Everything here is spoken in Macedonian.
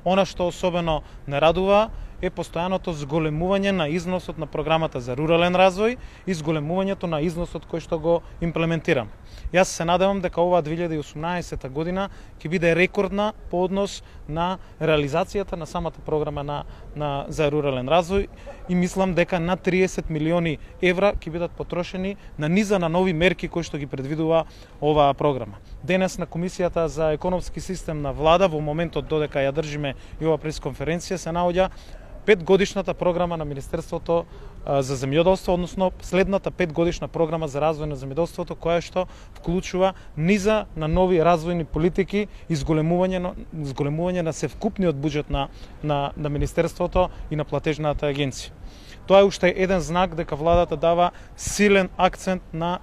Она што особено не радува е постојаното зголемување на износот на програмата за рурален развој и зголемувањето на износот кој што го имплементирам. Јас се надевам дека оваа 2018 година ќе биде рекордна по однос на реализацијата на самата програма за рурален развој и мислам дека над 30 милиони евра ќе бидат потрошени на низа на нови мерки кои што ги предвидува оваа програма. Денес на Комисијата за економски систем на влада, во моментот додека ја држиме и ова пресконференција, се наоѓа 5-годишната програма на Министерството за земјоделство, односно следната 5-годишна програма за развој на земјоделството, која што вклучува низа на нови развојни политики и зголемување на севкупниот буџет на Министерството и на платежната агенција. Тоа е уште еден знак дека владата дава силен акцент на